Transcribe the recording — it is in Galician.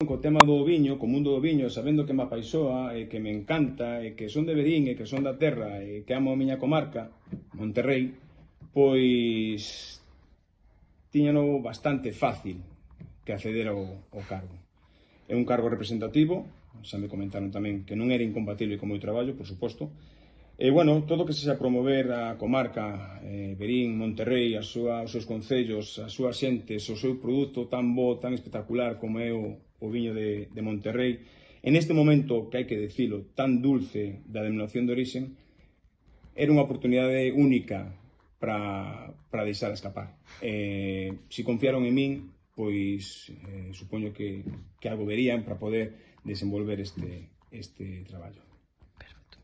Co tema do viño, co mundo do viño, sabendo que me apaixoa e que me encanta e que son de Verín e que son da terra e que amo a miña comarca, Monterrei, pois tiñano bastante fácil que acceder ao cargo. É un cargo representativo, xa me comentaron tamén que non era incompatible con o meu traballo, por suposto. E, bueno, todo que sexa promover a comarca, Verín, Monterrei, os seus concellos, as súas xentes, o seu produto tan bo, tan espectacular como é o viño de Monterrei, en este momento, que hai que dicilo, tan dulce da denominación de origen, era unha oportunidade única para deixar escapar. Se confiaron en min, pois supoño que algo verían para poder desenvolver este traballo. Perfecto.